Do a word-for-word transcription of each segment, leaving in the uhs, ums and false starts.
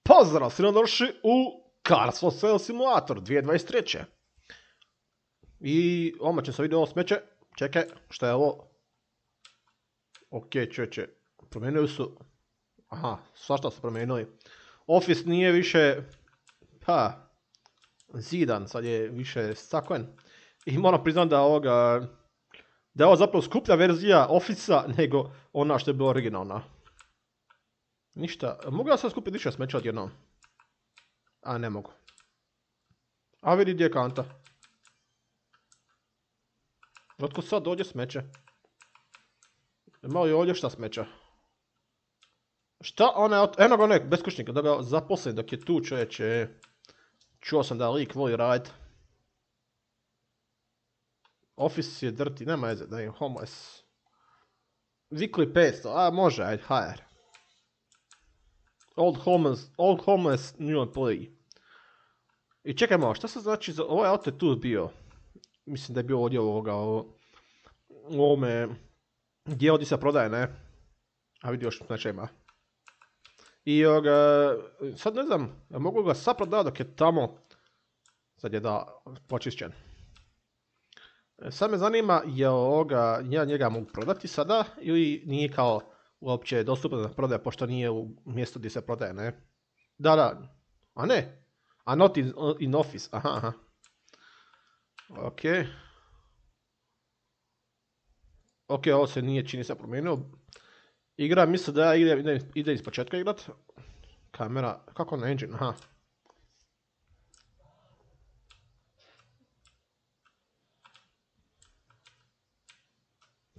Pozdrav, svi došli u Cars for Sale Simulator dvije tisuće dvadeset treće. I odmah će se vidjeti ovo smeće. Čekaj, šta je ovo? Ok, čeće, promijenili su. Aha, svašta su promijenili. Office nije više, pa, zidan, sad je više staklen. I moram priznati da ovoga, da je ovo zapravo skuplja verzija Office-a nego ona što je bila originalna. Ništa, mogu ja sad skupiti više smeća odjednom? A ne mogu. A vidi gdje je kanta. Otkud sad dođe smeće? Ima li ovdje šta smeća? Šta ona, eno ga onek, beskućnika, da ga zaposlim dok je tu čovječe. Čuo sam da lik voli radit. Office je drti, nema veze, da je homeless. Weekly petsto, a može, ajde, hire. Old homeless, old homeless new employee. I čekaj malo, šta se znači za, ovaj auto je tu bio. Mislim da je bio ovdje ovoga, u ovome, gdje ovdje se prodaje, ne? A vidi još znači ima. I ovoga, sad ne znam, mogu ga sad prodati dok je tamo, sad je da počišćen. Sad me zanima, je ovoga, ja njega mogu prodati sada ili nije kao uopće dostupno da prodaje, pošto nije u mjestu gdje se prodaje, ne? Da, da, a ne, a not in, in office, aha, aha. Ok. Ok, ovo se nije čini se promijenio. Igra, mislim da ja ide, ide, ide iz početka igrat. Kamera, kako na engine, aha.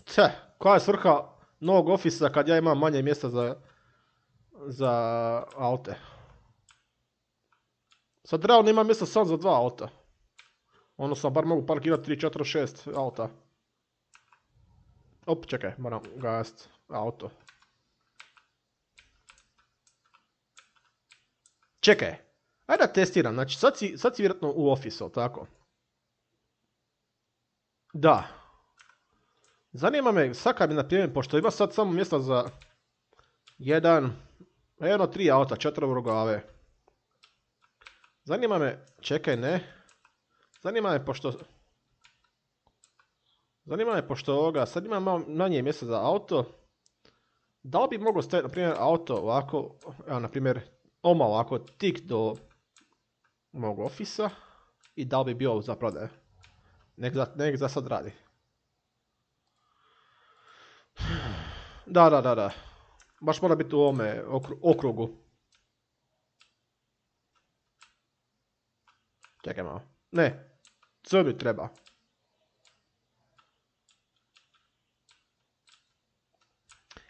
Če, koja je svrha novog ofisa kad ja imam manje mjesta za, za aute? Sad realno imam mjesta samo za dva auta. Ono sam bar mogu parkirati tri, četiri, šest auta. Op, čekaj, moram gast auto. Čekaj, ajde da testiram, znači sad si, sad si vjerojatno u ofisu, tako? Da. Zanima me, sad kad mi na primjer, pošto ima sad samo mjesta za jedan, jedno, tri auta, četiri vrglave. Zanima me, čekaj, ne. Zanima me, pošto... Zanima me, pošto ovoga, sad imam malo manje mjesta za auto. Da li bi moglo staviti, na primjer, auto ovako, evo, na primjer, oma ovako, tik do mog ofisa i da li bi bio za prodaje. Nek za, nek za sad radi. Da, da, da, da. Baš mora biti u ovome okru, okrugu. Čekaj malo. Ne. Crni treba.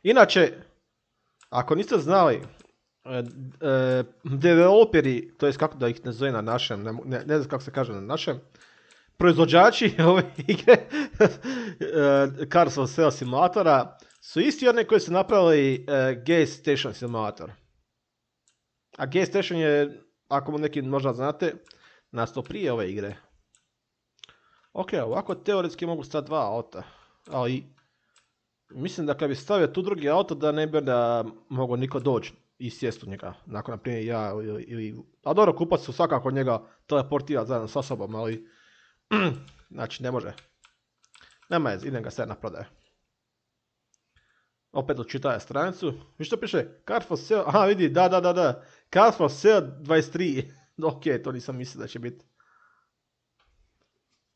Inače, ako niste znali, e, e, developeri, to jest kako da ih ne zove na našem, ne, ne, ne znam kako se kaže na našem, proizvođači ove igre, Cars for Sale Simulatora, su isti oni koji su napravili e, Gas Station Simulator. A Gas Station je, ako mu neki možda znate, nastao prije ove igre. Ok, ovako teoretski mogu staviti dva auta, ali mislim da kad bi stavio tu drugi auto da ne bi da mogu niko doći i sjesti u njega, nakon na primjer ja ili, ili... A dobro, kupac su svakako njega teleportira zajedno sa sobom, ali znači ne može. Nema je, idem ga sve na prodaje. Opet očitaje stranicu. Vi što piše? Cars for Sale, aha vidi, da, da, da, da. Cars for Sale dvadeset tri. Ok, to nisam mislio da će biti.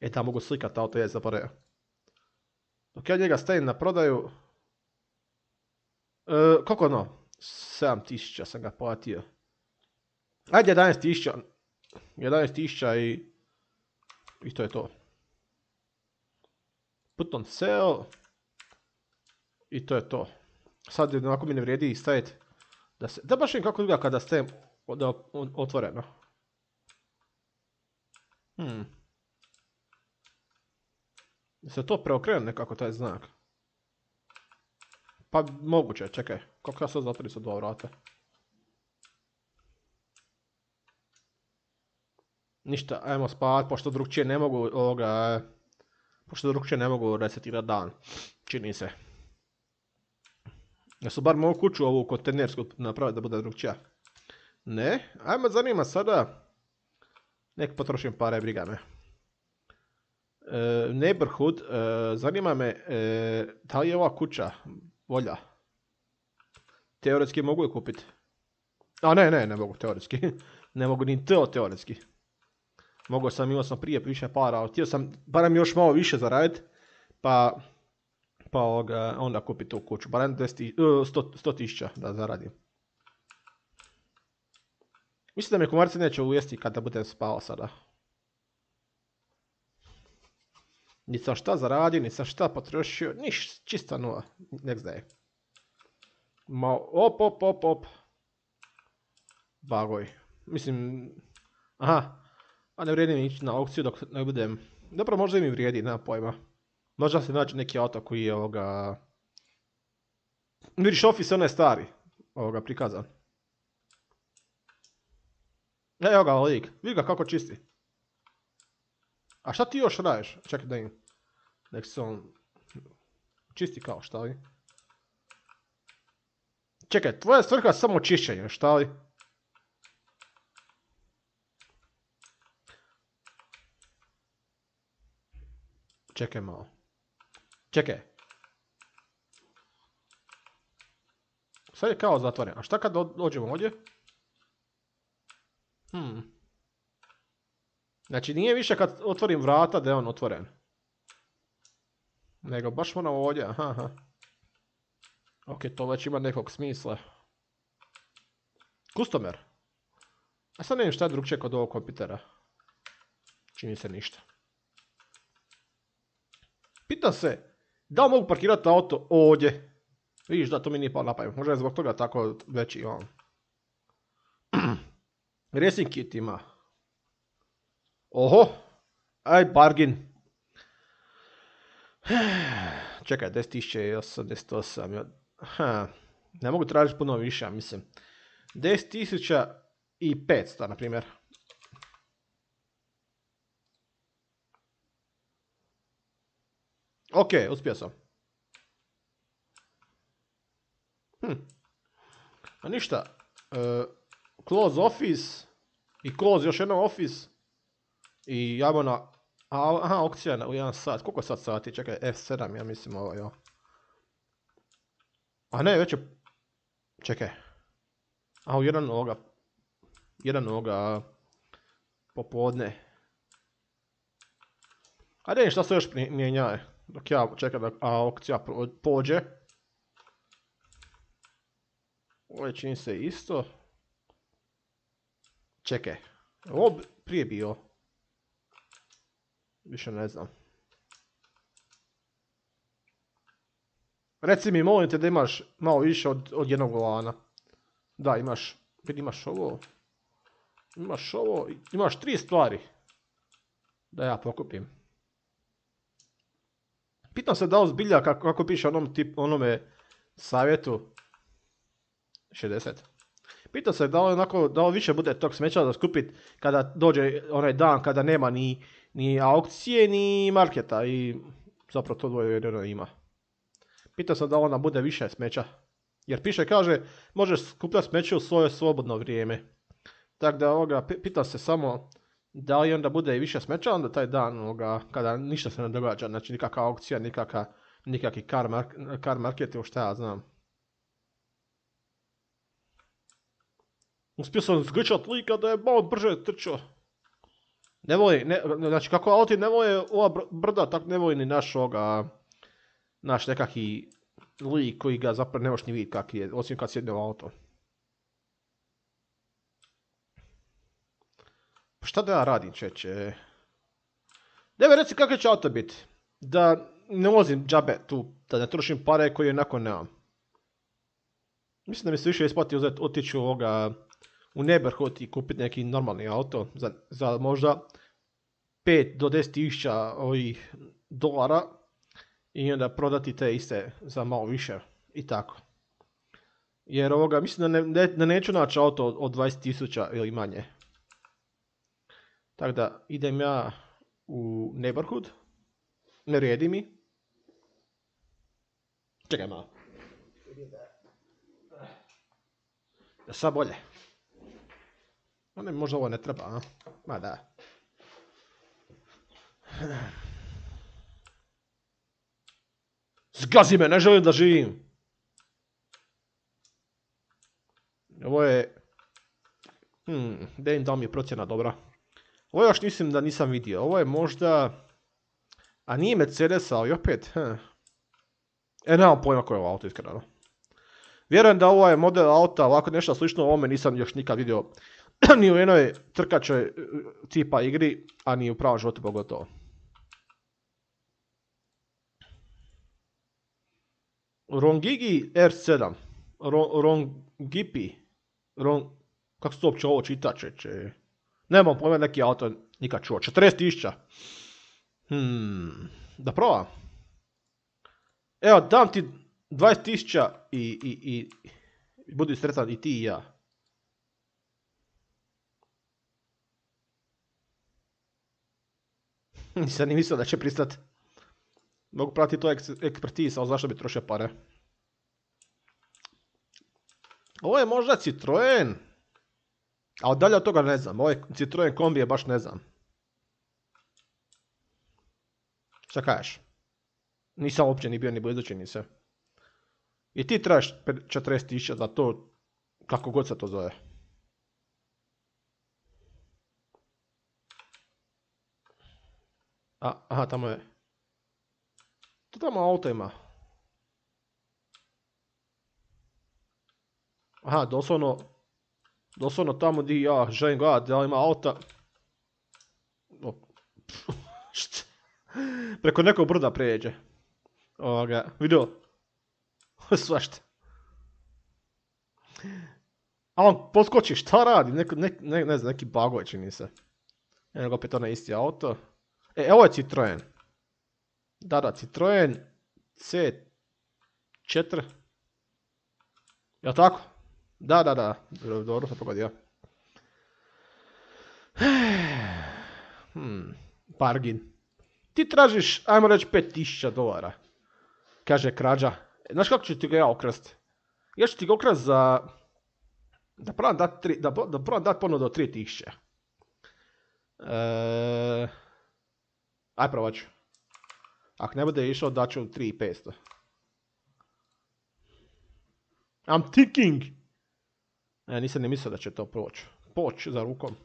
E, da mogu slikat auto, je zaboravio. Dok ja njega stavim na prodaju... E, koliko ono? sedam tisuća sam ga platio. Ajde, jedanaest tisuća. jedanaest tisuća i... I to je to. Put on sale. I to je to. Sad onako mi ne vrijedi staviti. Da se... Da baš im kako izgleda kada stavim otvoreno. Hmm. Da se to preokrene nekako taj znak. Pa moguće, čekaj. Kako ja sad zatvorim sa dva vrata? Ništa, ajmo spavat, pošto drugčije ne mogu ovoga... Pošto drugčije ne mogu resetirati dan. Čini se. Ja su bar mogu kuću ovu kontejnersku napraviti da bude drugčija. Ne, ajme zanima sada. Nek potrošim pare, briga me. E, neighborhood, e, zanima me e, da li je ova kuća volja. Teoretski mogu je kupiti. A ne, ne, ne mogu teoretski. Ne mogu ni to teoretski. Mogao sam, imao sam prije više para, ali htio sam barem još malo više zaraditi, pa, pa ovoga, onda kupiti tu kuću. Barem sto tisuća da zaradim. Mislim da me komarci neće ujesti kada budem spao sada. Ni sam šta zaradio, ni sam šta potrošio, niš, čista nula, nek zdaje. Ma, op, op, op, op. Bagoj. Mislim, aha, a ne vrijedi mi ići na aukciju dok ne budem, dobro možda mi vrijedi, nema pojma. Možda se nađe neki auto koji je ovoga... Vidiš, Office onaj stari, ovoga prikazan. Evo ga lik, vidi ga kako čisti. A šta ti još radiš? Čekaj da im... Nek se on... Čisti kao, šta li? Čekaj, tvoja svrha je samo čišćenje, šta li? Čekaj malo. Čekaj. Sad je kao zatvoren. A šta kad dođemo ovdje? Hmm. Znači nije više kad otvorim vrata da je on otvoren. Nego baš moram ovdje. Aha, aha. Ok, to već ima nekog smisla. Customer. A sad ne vidim šta je drugčije kod ovog kompitera. Čini se ništa. Pitam se, da li mogu parkirati auto ovdje? Vidiš da to mi nije palo na pamet. Možda je zbog toga tako veći on. Racing kit ima. Oho. Aj, bargain. Čekaj, deset tisuća osamdeset osam. Ha. Ne mogu tražiti puno više, mislim. deset tisuća i petsto, na primjer. Ok, uspio sam. Hm. A ništa. Uh, close office. I close još jedno office. I jamo na... A, aha, aukcija u jedan sat. Koliko sad sati? Čekaj, F sedam, ja mislim ovo, jo. A ne, već je... Čekaj. A u jedan ovoga... Jedan ovoga... Popodne. Ajde, šta se još mijenja? Dok ja čekam da aukcija pođe. Ovo je čini se isto. Čekaj. Ovo prije bio. Više ne znam. Reci mi, molim te da imaš malo više od, od jednog volana. Da, imaš. Imaš ovo. Imaš ovo. Imaš tri stvari. Da ja pokupim. Pitam se da li zbilja, kako, kako piše onom tip, onome savjetu. šezdeset. Pitam se da li, onako, da li više bude tog smeća da skupit kada dođe onaj dan kada nema ni, ni aukcije ni marketa i zapravo to dvoje jedino ima. Pitam se da li ona bude više smeća. Jer piše, kaže, možeš skupljati smeće u svoje slobodno vrijeme. Tako da ovoga, pitam se samo da li onda bude više smeća onda taj dan ovoga, kada ništa se ne događa. Znači nikakva aukcija, nikakva, nikakvi car, mark, car market ili šta ja znam. Uspio sam zgrčat lika da je malo brže trčao. Ne voli, ne, znači kako auti ne voli ova brda, tako ne voli ni naš ovoga, naš nekakvi lik koji ga zapravo ne možeš ni vidjeti kak je, osim kad sjedne u auto. Pa šta da ja radim, čeće? Deve reci kakav će auto biti. Da ne vozim džabe tu, da ne trošim pare koje jednako nemam. Mislim da mi se više isplati uzeti, otići u ovoga, u neighborhood i kupiti neki normalni auto za, za možda pet do deset tisuća ovih dolara i onda prodati te iste za malo više i tako. Jer ovoga, mislim da, ne, ne, da neću naći auto od, od dvadeset tisuća ili manje. Tako da idem ja u neighborhood, ne vrijedi mi. Čekaj malo. Sad bolje. Ne, možda ovo ne treba, a? Ma da. Zgazi me, ne želim da živim. Ovo je... Hmm, da im dao mi je procjena dobra. Ovo još mislim da nisam vidio. Ovo je možda... A nije Mercedes, ali opet... Hm. E, nemam pojma koje je ovo auto, iskreno. Vjerujem da ovo je model auta, ovako nešto slično ovome nisam još nikad vidio. Ni u jednoj trkačoj tipa igri, a ni u pravom životu pogotovo. Rongigi R sedam. Ro, Rongipi. Ron, kako se to uopće ovo čita, čeče? Nemam pojma neki auto nikad čuo. četrdeset tisuća. Hmm, da probam. Evo, dam ti dvadeset tisuća i, i, i, i budi sretan i ti i ja. Nisam ni mislio da će pristati. Mogu pratiti to ekspertiz, ali zašto bi trošio pare? Ovo je možda Citroen. A dalje od toga ne znam. Ovo je Citroen kombi je baš ne znam. Šta kažeš? Nisam uopće ni bio ni blizu čini se. I ti trebaš četrdeset tisuća za to, kako god se to zove. A, aha, tamo je. To tamo auto ima. Aha, doslovno, doslovno tamo di ja želim gledati da li ima auta. O, preko nekog brda pređe. Ovoga, vidio? Svašta. A on poskoči, šta radi? Neko, ne, ne, ne znam, neki bagoj čini se. Eno ga opet onaj isti auto. E, evo je Citroen. Da, da, Citroen C četiri. Jel' tako? Da, da, da. Dobro sam pogodio. Hmm, bargain. Ti tražiš, ajmo reći, pet tisuća dolara. Kaže krađa. Znaš kako ću ti ga ja okrast? Ja ću ti ga okrast za... Da probam dat, tri, da, da probam dat ponudu od tri tisuće. E... Aj probat ću. Ako ne bude išao, daću tri tisuće petsto. I'm thinking. E, nisam ne mislio da će to proći. Poć za rukom.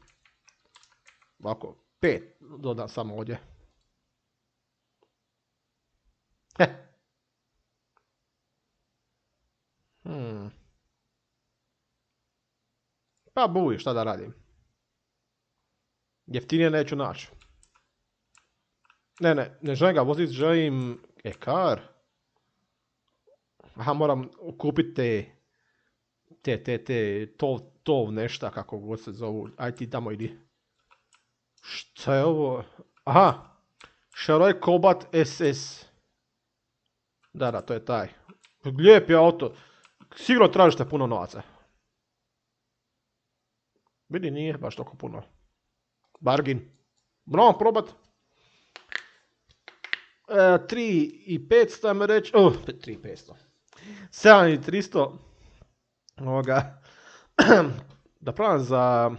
Ovako, pet dodam samo ovdje. He. Hmm. Pa buj, šta da radim. Jeftinije neću naći. Ne, ne, ne želim ga voziti, želim e-car. Aha, moram kupiti te, te, te, te, tov, tov nešta, kako god se zovu. Aj ti tamo idi. Šta je ovo? Aha, Šaroj Kobat S S. Da, da, to je taj. Lijep je auto. Sigurno tražite puno novaca. Vidi, nije baš toliko puno. Bargain. Moramo probat. E, tri i petsto, ajme reći. Oh, tri i petsto. sedam i tristo. Ovoga. Da pravim za...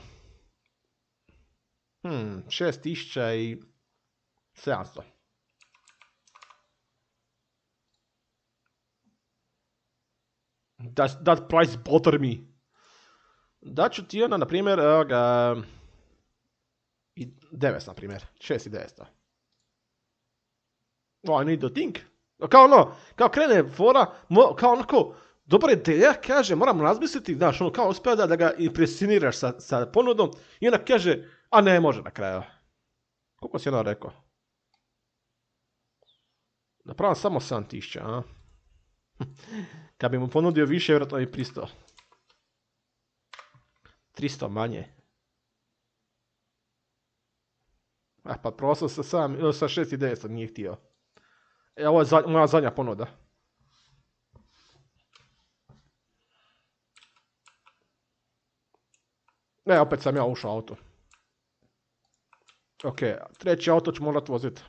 Hmm, šest tisuća i sedamsto. That, that price bother me. Daću ti onda, na primjer, evo ga... I devetsto, na primjer. šest i devetsto. Oh, I need to think. Kao ono, kao krene fora, mo, kao onako, dobra ideja, kaže, moram razmisliti, znaš, ono, kao uspio da, da ga impresioniraš sa, sa ponudom, i onda kaže, a ne može na kraju. Koliko si ono rekao? Napravim samo sedam tisuća, a? Kad bi mu ponudio više, vjerojatno bi pristao. tristo manje. Ah, pa prosao sa, sam, sa šest i devetsto, nije htio. E, ovo je za, moja zadnja ponuda. E, opet sam ja ušao auto. Ok, treći auto ću morat voziti.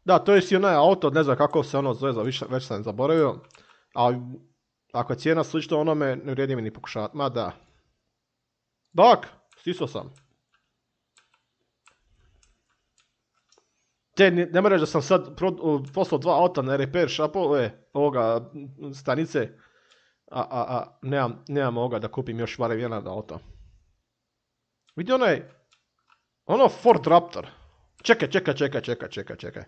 Da, to je si onaj auto, ne znam kako se ono zove, više, već sam zaboravio. Ali ako je cijena slična onome, ne vrijedi mi ni pokušavati. Ma da. Dak, stisao sam. Te, ne, ne moraš da sam sad pro, poslao dva auta na repair shopove, ovoga, stanice, a, a, a nemam, nemam ovoga da kupim još barem jedan auto. Vidi onaj, ono Ford Raptor. Čekaj, čekaj, čekaj, čekaj, čekaj, čekaj.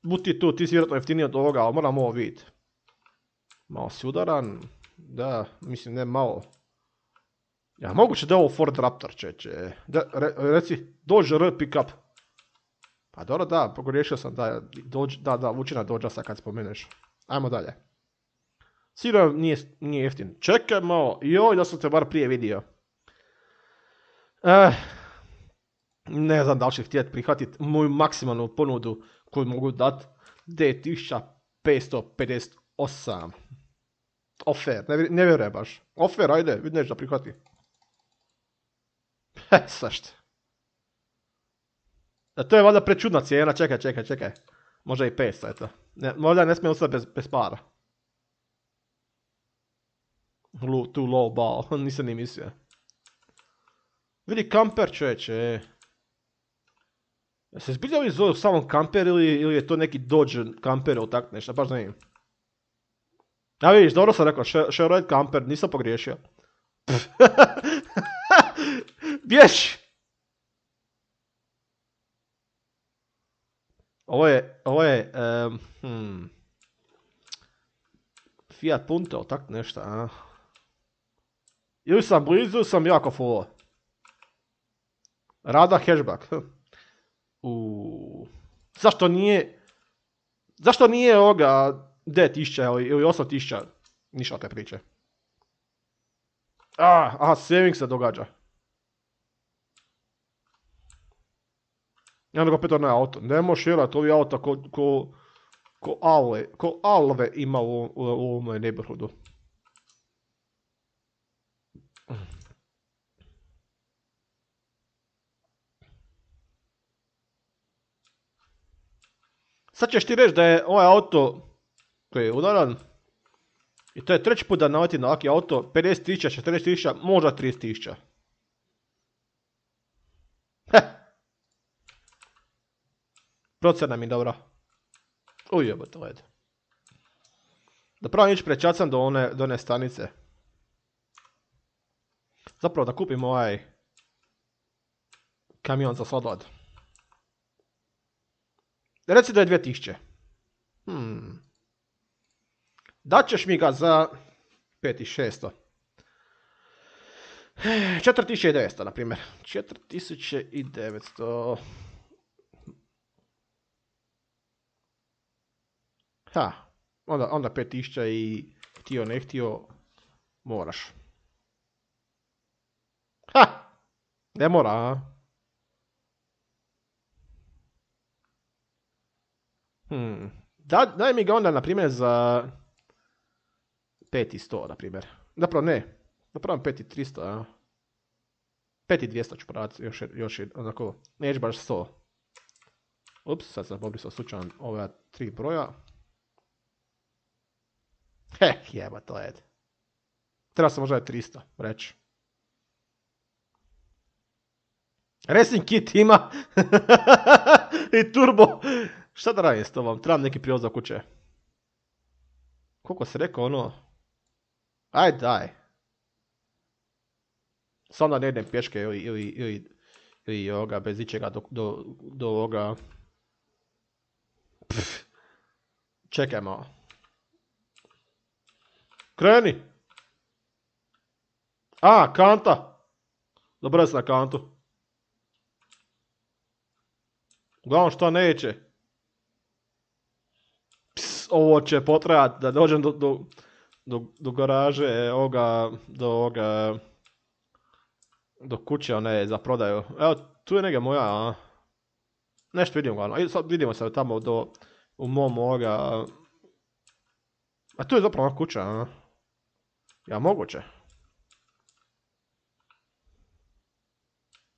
Buti tu, ti si vjerojatno jeftiniji od ovoga, ali moram ovo vidjeti. Malo si udaran, da, mislim ne malo. Ja, moguće da je ovo Ford Raptor, čeče. Da, re, reci, Dodge R pickup. Pa dobro, da, pogriješio sam da, dođ, da, da, vuči na Dodge-a kad spomeneš. Ajmo dalje. Sigurno nije, nije jeftin. Čekaj malo, joj da sam te bar prije vidio. Eh, ne znam da li će htjeti prihvatiti moju maksimalnu ponudu koju mogu dati. devet tisuća petsto pedeset osam. Ofer, ne, ne vjerujem baš. Ofer, ajde, vidiš da prihvati. He, sašto. A to je valjda prečudna cijena, čekaj, čekaj, čekaj. Možda i petsto, eto. Ne, možda ne smije ostati bez, bez para. Lu, too low ball, nisam ni mislio. Vidi kamper, čovječe. Se zbilja ovi zove samo kamper ili, ili je to neki Dodge kamper ili tak nešto, baš ne. A vidiš, dobro sam rekao, Chevrolet kamper, nisam pogriješio. Bješ! Ovo je, ovo je, um, hmm. Fiat Punto, tak nešto, a? Ili sam blizu, ili sam jako full. Rada hatchback. Uuu. Zašto nije, zašto nije ovoga devet tisuća ili osam tisuća, ništa te priče. Ah, aha, saving se događa. I onda ga opet onaj auto. Ne možeš vjerati ovi auta ko, ko, ko, alve, ko alve ima u, u, u ovom neighborhoodu. Sad ćeš ti reći da je ovaj auto koji je udaran, i to je treći put da naleti na ovaki auto, pedeset tisuća, četrdeset tisuća, možda trideset tisuća. Heh. Procena mi dobra. Ujebo to led. Da pravim ići prečacam do one, do one stanice. Zapravo da kupim ovaj kamion za sladoled. Reci da je dvije tisuće. Hmm. Daćeš mi ga za pet tisuća šesto. četiri tisuće devetsto, na primjer. četiri tisuće devetsto. Ha, onda, onda pet tisuća i htio ne htio moraš. Ha, ne mora, a? Hmm. Da, daj mi ga onda, na primjer, za pet tisuća sto, na primjer. Zapravo ne, zapravo pet tisuća tristo, a? pet tisuća dvjesto ću prodati, još, još onako, neće baš sto. Ups, sad sam obrisao slučajno ove tri broja. Heh, jeba to je. Treba sam možda je tristo reći. Racing kit ima. I turbo. Šta da radim s tobom? Trebam neki prijevoz za kuće. Koliko se rekao ono? Aj daj. Samo da ne idem pješke ili, ili, ili, ili ovoga, bez ičega do, do, do ovoga. Pff. Čekaj malo. Kreni! A, kanta! Dobro sam na kantu. Uglavnom što neće. Ps, ovo će potrajati da dođem do, do, do, do garaže, ovoga, do ovoga, do kuće one za prodaju. Evo, tu je neka moja, a? Nešto vidimo uglavnom. Sad vidimo se tamo do, u mom ovoga. A tu je zapravo kuća, a? Ja, moguće.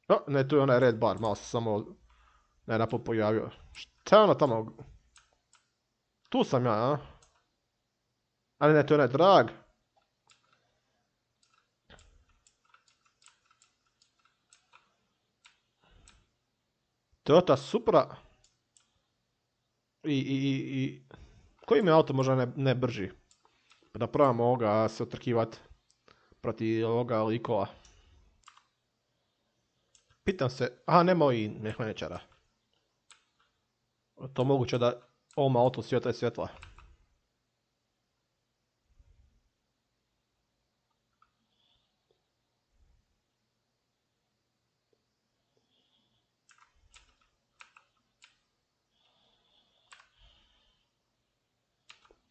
O, ne, tu je onaj red bar, malo se samo ne napod pojavio. Šta je ono tamo? Tu sam ja, a? Ali ne, tu je onaj drag. Toyota Supra. I, i, i, i... Koji mi auto možda ne, ne brži? Pa da probam ovoga se otrkivat protiv ovoga likova. Pitam se, aha, nema i mehaničara. To moguće da ovom auto svjetla je svjetla.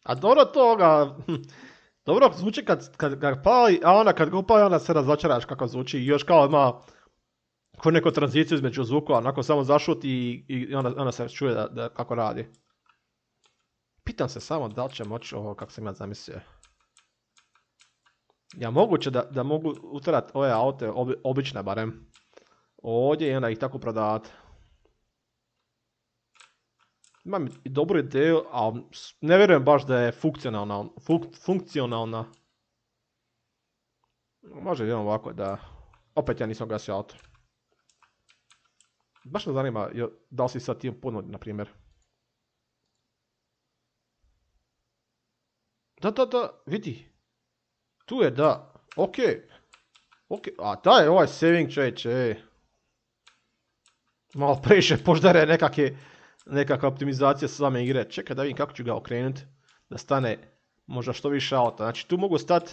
A dobro toga, dobro zvuči kad, kad ga pali, a onda kad ga upali onda se razočaraš kako zvuči i još kao ima ko neku tranziciju između zvukova, onako samo zašuti i, i onda, onda se čuje da, da, kako radi. Pitam se samo da li će moći ovo kako sam ja zamislio. Ja moguće da, da mogu utrati ove aute, obi, obične barem, ovdje i onda ih tako prodavati. Imam i dobru ideju, ali ne vjerujem baš da je funkcionalna. Funk, funkcionalna. Može jedan ovako da... Opet ja nisam gasio auto. Baš me zanima da li si sad tim puno, na primjer. Da, da, da, vidi. Tu je, da. Ok. Ok, a da je ovaj saving čovječe. Malo previše poždare nekakve... Nekakva optimizacija same igre. Čekaj da vidim kako ću ga okrenuti. Da stane možda što više auta. Znači tu mogu stati.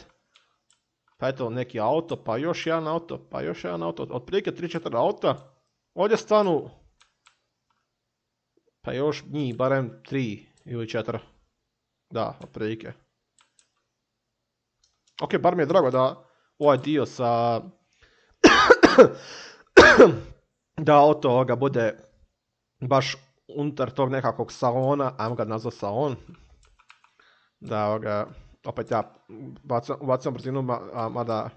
Pa eto neki auto, pa još jedan auto, pa još jedan auto. Otprilike tri četiri auta. Ovdje stanu. Pa još njih barem tri ili četiri. Da, otprilike. Ok, bar mi je drago da ovaj dio sa... da auto ovoga bude baš unutar tog nekakvog salona, ajmo ga nazvati salon, da ovoga, opet ja bacam, bacam brzinu, ma, mada,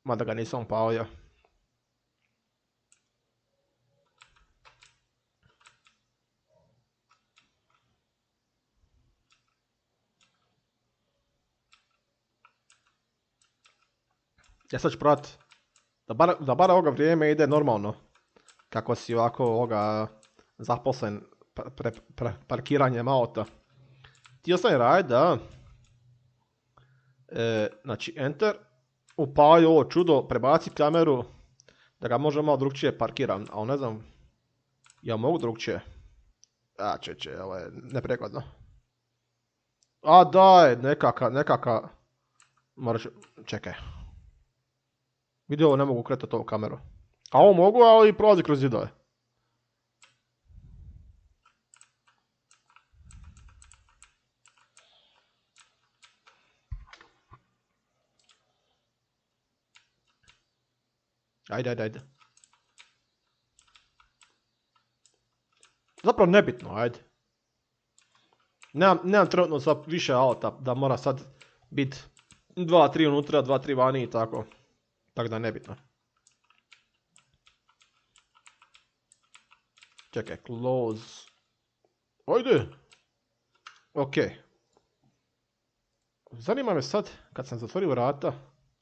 mada ga nisam palio. Ja sad ću probati da bar, da bar ovoga vrijeme ide normalno, kako si ovako ovoga zaposlen pre, pre, pre, parkiranjem auta. Ti ostane raditi da, e, znači enter, upali ovo čudo, prebaci kameru, da ga može malo drugčije parkiram, ali ne znam, ja mogu drugčije. A čeče, ovo je neprekladno. A daj, nekaka, nekaka, moraš, čekaj. Vidi ovo, ne mogu kretati ovu kameru. A ovo mogu, ali prolazi kroz zidove. Ajde, ajde, ajde. Zapravo nebitno, ajde. Nemam, nemam trenutno sad više auta da mora sad biti dva tri unutra, dva tri vani i tako. Tako da nebitno. Čekaj, close. Ajde. Ok. Zanima me sad, kad sam zatvorio vrata,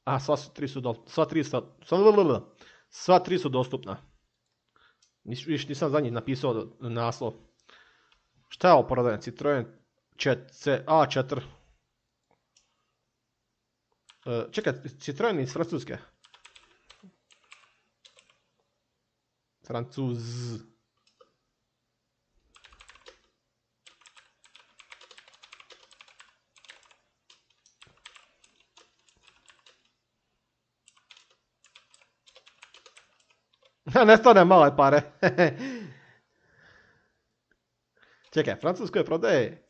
a sva tri su, do, sva tri su, sva, sva tri su dostupna. Nis, viš, nisam za njih napisao naslov. Šta je ovo prodajem? Citroen A četiri. E, čekaj, Citroen iz Francuske. Francuz. Ne stane male pare. Čekaj, Francuskoj prodaje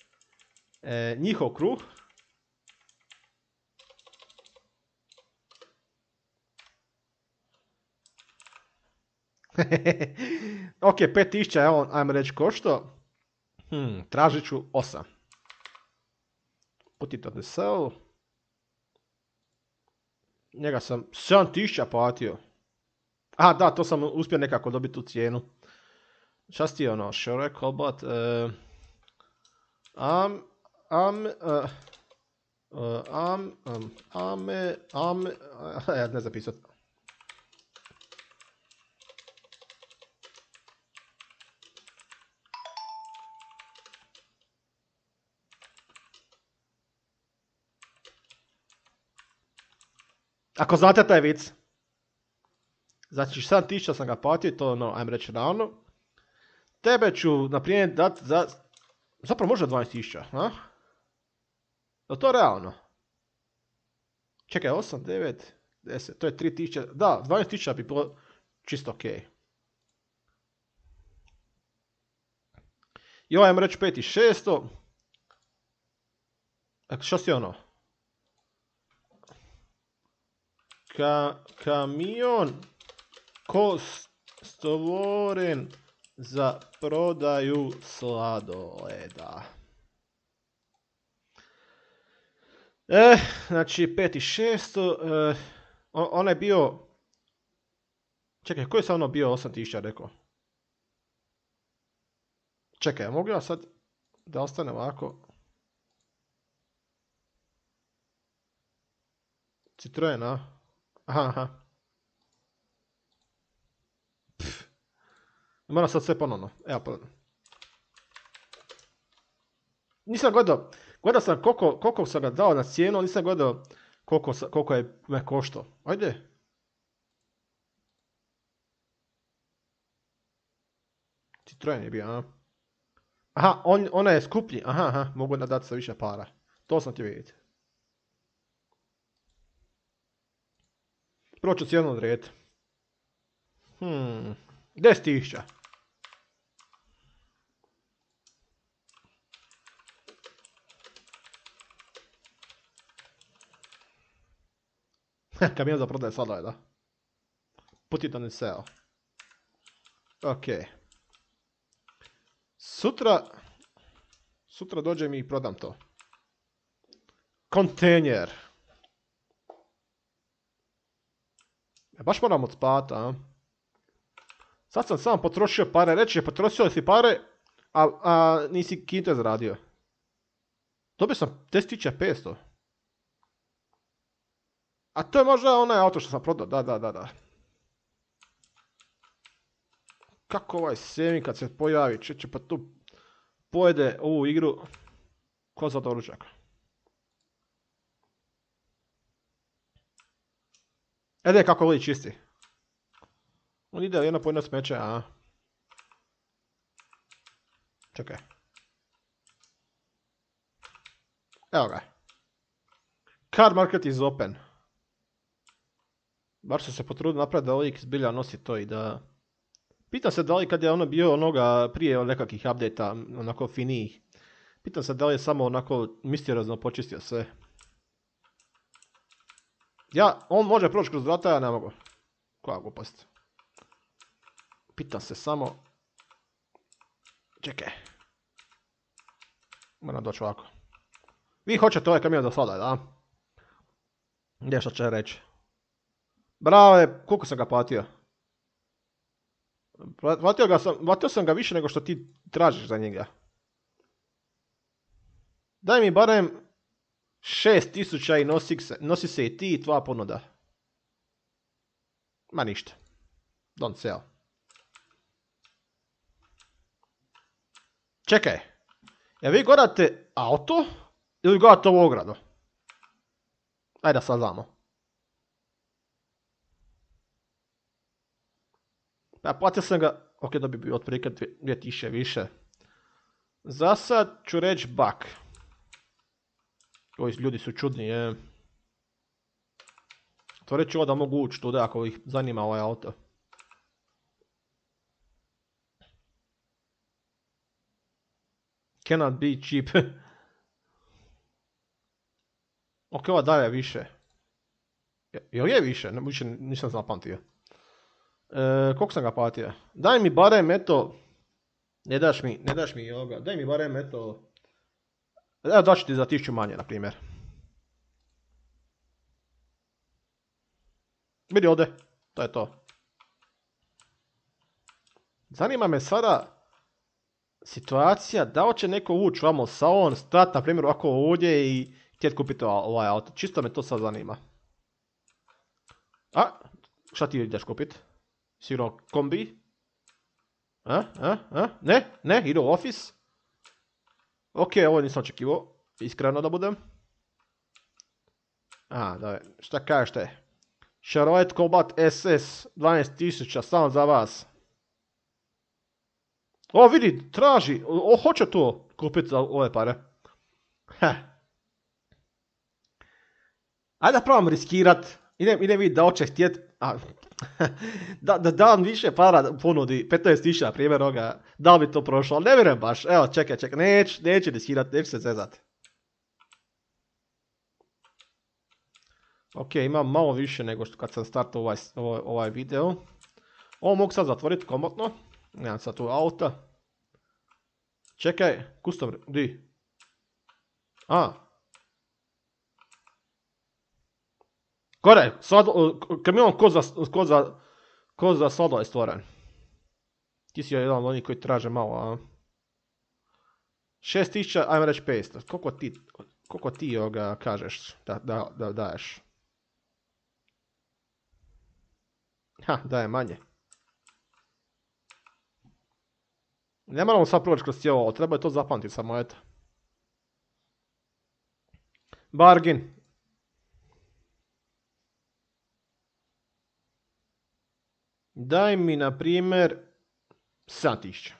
e, njihov kruh. Ok, pet tisuća je on, ajmo reći, košto. Hmm, tražit ću osam. Put it on the sell. Njega sam sedam tisuća platio. A, da, to sam uspio nekako dobiti tu cijenu. Šta si ti ono, Shrek, Cobot, uh, am, am, uh, uh, am, um, ame, ame, uh, ja ne zapisat. Ako znate taj vic. Znači sedam tisuća sam ga platio, to ono, ajmo reći ravno. Tebe ću, na primjer, dat za... Zapravo možda dvanaest tisuća, a? Je to realno? Čekaj, osam, devet, deset, to je tri tisuće, da, dvanaest tisuća bi bilo čisto okej. Okay. I ovaj ajmo reći pet tisuća šesto. Dakle, što si ono? Ka, kamion ko stvoren za prodaju sladoleda. E, znači pet tisuća šesto, e, on, on je bio, čekaj, koji je sad ono bio osam tisuća rekao? Čekaj, mogu ja sad da ostane ovako? Citroen, a? Aha, aha. Pff. Moram sad sve ponovno. Evo ponovno. Nisam gledao, gledao sam koliko, koliko sam ga dao na cijenu, nisam gledao koliko, koliko je me koštao. Ajde. Citroen je bio, a? Aha, on, ona je skuplji. Aha, aha, mogu dati sa više para. To sam ti vidjeti. Prvo ću cijenu odrediti. Hmm, deset tisuća. Kamion za prodaje sladoleda. Put it on sale. Ok. Sutra... Sutra dođem i prodam to. Kontejner. Ja baš moram odspat, a? Sad sam sam potrošio pare. Reći je, potrošio si pare, a, a nisi kinte zaradio. Dobio sam deset tisuća petsto. A to je možda onaj auto što sam prodao, da, da, da, da. Kako ovaj Semi kad se pojavi, čeće pa tu pojede ovu igru ko za doručak. Ede kako voli čisti. On ide jedno po jedno smeće, a? Čekaj. Evo ga. Car market is open. Bar su se potrudili napraviti da lik zbilja nosi to i da... Pitam se da li kad je ono bio onoga prije nekakvih update-a, onako finijih. Pitam se da li je samo onako misteriozno počistio sve. Ja, on može proći kroz vrata, ja ne mogu. Koja glupost. Pitam se samo... Čekaj. Moram doći ovako. Vi hoćete ovaj kamion da sada, da? Gdje što će reći? Brave, koliko sam ga platio? Platio, ga sam, platio sam ga više nego što ti tražiš za njega. Daj mi barem šest tisuća i nosi se, nosi se i ti i tvoja ponuda. Ma ništa. Don't sell. Čekaj. Ja vi gledate auto ili gledate ovu ogradu? Ajde da saznamo. Ja platio sam ga, ok, da bi bio otprilike dvije tisuće više. Za sad ću reći bak. Ovi ljudi su čudni, je. Otvorit ću ovo da mogu ući tuda ako ih zanima ovaj auto. Cannot be cheap. Ok, ova daje više. Jel je više? Ne, više nisam zapamtio. E, koliko sam ga platio? Daj mi barem eto... Ne daš mi, ne daš mi ovoga. Daj mi barem eto... Evo daću ti za tisuću manje, na primjer. Vidi ovdje. To je to. Zanima me sada... Situacija, da li će neko ući vamo u salon, stati na primjer ovako ovdje i htjeti kupiti ovaj auto. Čisto me to sad zanima. A? Šta ti ideš kupiti? Sigurno kombi? A? A? A? Ne? Ne? Idu u office? Ok, ovo nisam očekivao. Iskreno da budem. A, da, šta kažete? Chevrolet Cobalt S S, dvanaest tisuća, samo za vas. O, vidi, traži, o, hoće to kupiti za ove pare. Heh. Ajde da probam riskirat. Idem, idem vidjeti da hoće htjet. A, da, da dam više para ponudi, petnaest tisuća na primjer ovoga, da li bi to prošlo, ali ne vjerujem baš. Evo, čekaj, čekaj, neću, neću riskirat, neću se zezat. Ok, imam malo više nego što kad sam startao ovaj, ovaj, ovaj video. Ovo mogu sad zatvoriti komotno. Nemam sad tu auta. Čekaj, custom, di? A. Gore, sad, kamion ko za, ko za, ko za solo je stvoren. Ti si jedan od onih koji traže malo, a? šest tisuća, ajmo reći petsto. Koliko ti, koliko ti ovoga kažeš da, da, da daješ? Ha, daje manje. Ne moramo sad proći kroz cijelo ovo, treba je to zapamtiti samo, eto. Bargain. Daj mi, na primjer, sedam tisuća.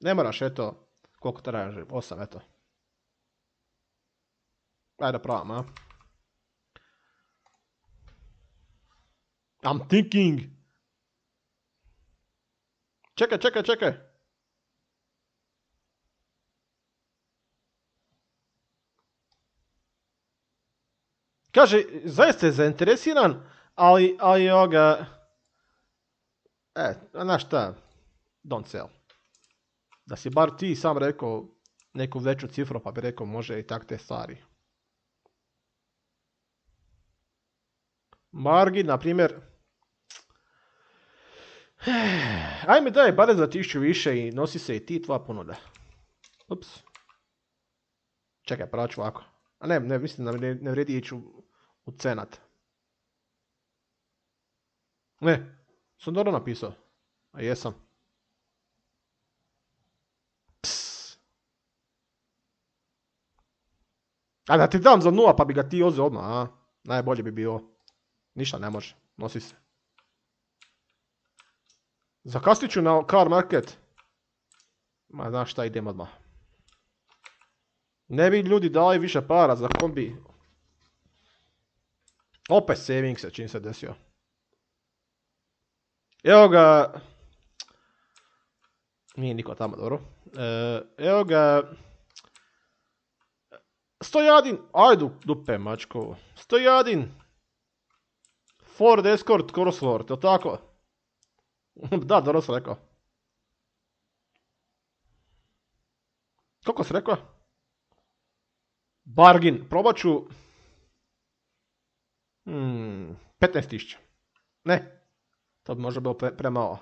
Ne moraš, eto, koliko traži, osam, eto. Ajde da pravam, a? I'm thinking. Čekaj, čekaj, čekaj. Kaže, zaista je zainteresiran, ali, ali ovoga... E, znaš šta? Don't sell. Da si bar ti sam rekao neku veću cifru, pa bi rekao može i tak te stvari. Margin, na primjer... Ajme daj, bare za tisuću više i nosi se i ti tvoja ponuda. Ups. Čekaj, pravo ću ovako. A ne, ne, mislim da ne, ne vredi ići u, u cenat. Ne, sam dobro napisao. A jesam. Psss. A da ti dam za nula pa bi ga ti ozio odmah, a? Najbolje bi bilo. Ništa ne može, nosi se. Zakasnit ću na car market. Ma znaš šta, idem odmah. Ne bi ljudi dali više para za kombi. Opet saving se čim se desio. Evo ga... Nije niko tamo, dobro. E, evo ga... Stojadin, ajdu dupe mačko. Stojadin. Ford Escort Cosworth, je li tako? Da, dobro sam rekao. Koliko si rekao? Bargain, probat ću... Hmm, petnaest tisuća. Ne, to bi možda bilo pre, premalo.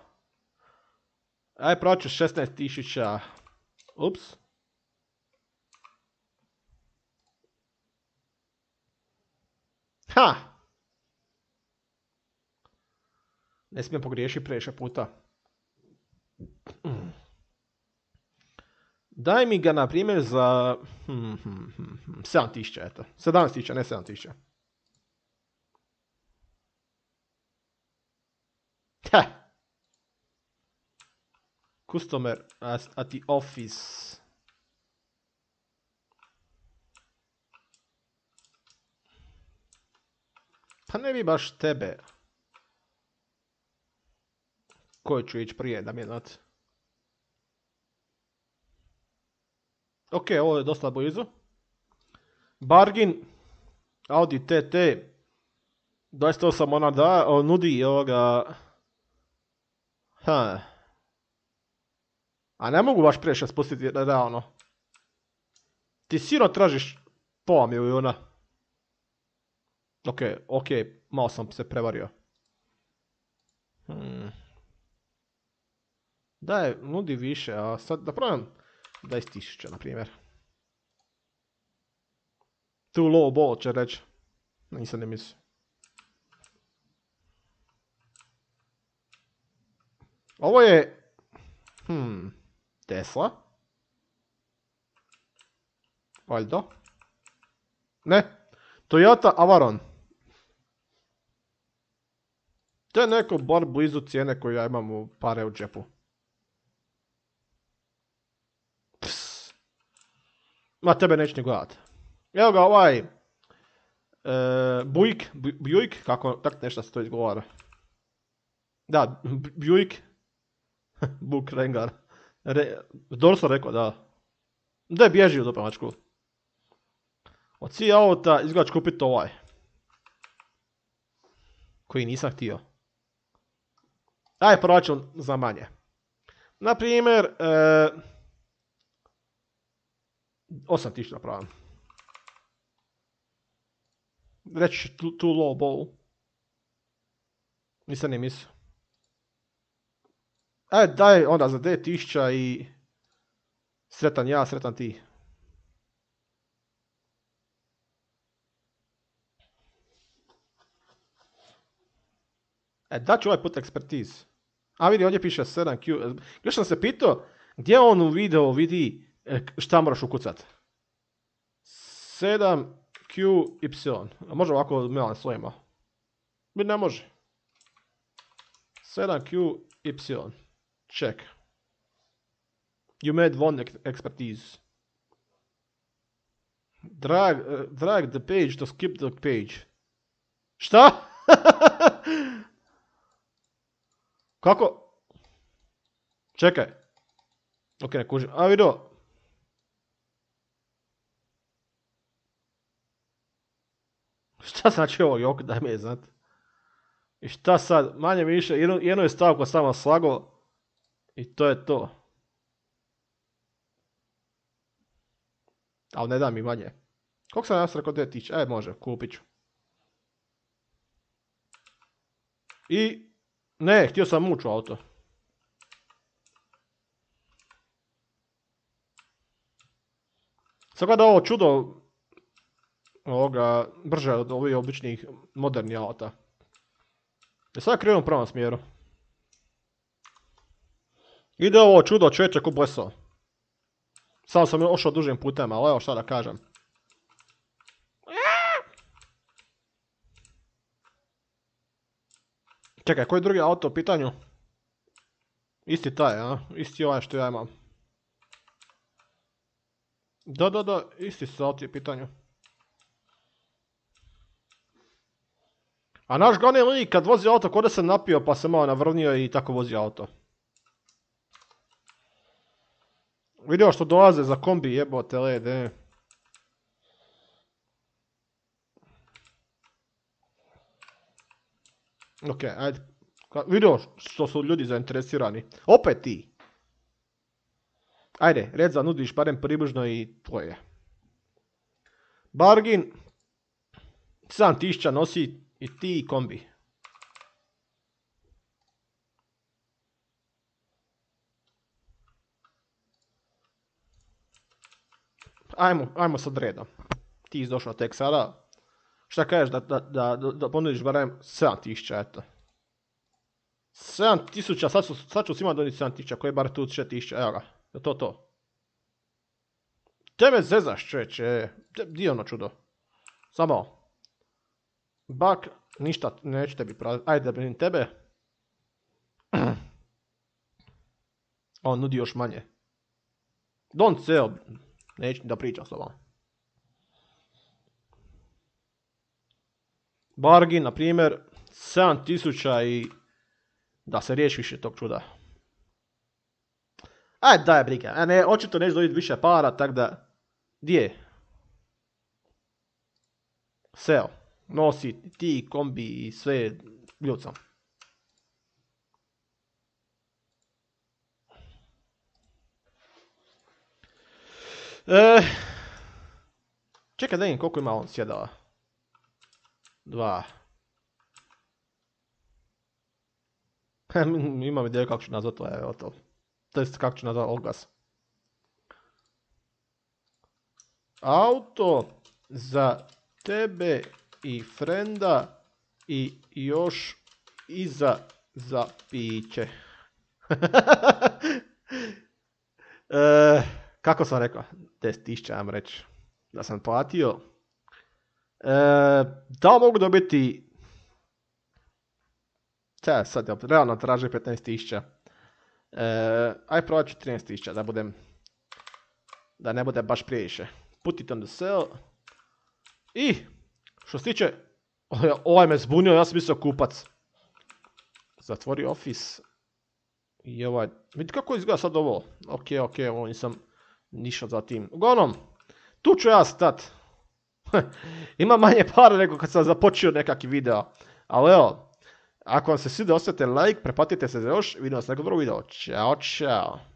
Aj, probat ću šesnaest tisuća. Ups. Ha! Ne smijem pogriješiti previše puta. Daj mi ga, na primjer, za... Hmm, hmm, hmm, hmm, sedam tisuća, eto. sedamnaest tisuća, ne sedam tisuća. Ha! Customer at the office. Pa ne bi baš tebe. Koji ću ići prije, da mi je znati. Ok, ovo je dosta blizu. Bargain. Audi T T. dvadeset osam ona da, on nudi ovoga... Ha. A ne mogu baš previše spustiti realno. Ti siro tražiš pola milijuna. Ok, ok, malo sam se prevario. Hmm. Daj, nudi više, a sad da probam dvadeset tisuća, na primjer. Too low ball će reći. Nisam ne mislio. Ovo je... Hmm... Tesla? Valjda? Ne. Toyota Avaron. To je neko bar blizu cijene koju ja imam u pare u džepu. Pss. Ma tebe neću ni gledat. Evo ga ovaj... E, Buick, Buick, kako tak nešto se to izgovara. Da, Buick. Buk Rengar. Re, dobro sam rekao, da. Da je bježi u dopremačku. Od svih auta izgleda kupiti ovaj. Koji nisam htio. Aj, proračun za manje. Naprimjer, e, osam tisuća napravim. Reći tu, tu low ball. Nisam ni mislio. Aj, daj onda za devet tisuća i... Sretan ja, sretan ti. E, daću ovaj put ekspertiz. A vidi, ovdje piše sedam Q. Još sam se pitao, gdje on u videu vidi šta moraš ukucat. sedam Q Y. A može ovako melan slojima? Mi ne može. sedam Q Y. Check. You made one expertise. Drag, uh, drag the page to skip the page. Šta? Kako? Čekaj. Ok, ne kužim. A vidio. Šta znači ovo jok, daj mi je znat. I šta sad? Manje više, jedno, jedno je stavko samo slago. I to je to. Ali ne da mi manje. Koliko sam nas rekao devet tisuća? E, može, kupit ću. I... Ne, htio sam muć u auto. Sada da ovo čudo ovoga brže od ovih običnih modernih auta. I sada krenuo u pravom smjeru. Ide ovo čudo čovječe ko bleso. Samo sam ošao dužim putem, ali evo šta da kažem. Čekaj, koji drugi auto u pitanju? Isti taj, a? Isti ovaj što ja imam. Da, da, da, isti su auto u pitanju. A naš glavni lik kad vozi auto kod da se napio pa se malo navrnio i tako vozi auto. Vidio što dolaze za kombi jebote lede. Ok, ajde. Vidio što su ljudi zainteresirani. Opet ti. Ajde, red za nudiš barem približno i tvoje. Bargin. sedam tisuća nosi i ti i kombi. Ajmo, ajmo sad redom. Ti izdošao tek sada. Šta kažeš da, da, da, da ponudiš barem sedam tisuća, eto. sedam tisuća, sad, su, sad ću svima doniti sedam tisuća, koji je bar tu šest tisuća, evo ga. Je to to? Tebe zezaš čeče, di je ono čudo? Samo. Bak, ništa, neću tebi praviti, ajde da brinim tebe. On nudi još manje. Don't sell, neću da pričam s vama. Bargain, na primjer, sedam tisuća i da se riješi više tog čuda. Ajde, daj briga. A ne, očito neće dobiti više para, tak da... Di je? Seo. Nosi ti, kombi i sve ljucam. E, čekaj da vidim koliko ima on sjedala. Dva. Imam ideju kako ću nazvat to, evo to. To jest kako ću nazvat oglas. Auto za tebe i frenda i još iza za piće. e, kako sam rekao? deset tisuća, ajmo reći. Da sam platio. E, da li mogu dobiti Te, sad je realno traži petnaest tisuća. E, aj probat ću trinaest tisuća, da budem... Da ne bude baš previše. Put it on the sell. I, što se tiče... Ovaj me zbunio, ja sam mislio kupac. Zatvori Office. I ovaj... Vidite kako izgleda sad ovo. Ok, ok, ovo nisam nišao za tim. Uglavnom, tu ću ja stat. Ima manje para nego kad sam započeo nekakvi video. Ali evo, ako vam se svidio, ostavite like, prepatite se za još. Vidimo se nekog drugog videa. Ćao, čao.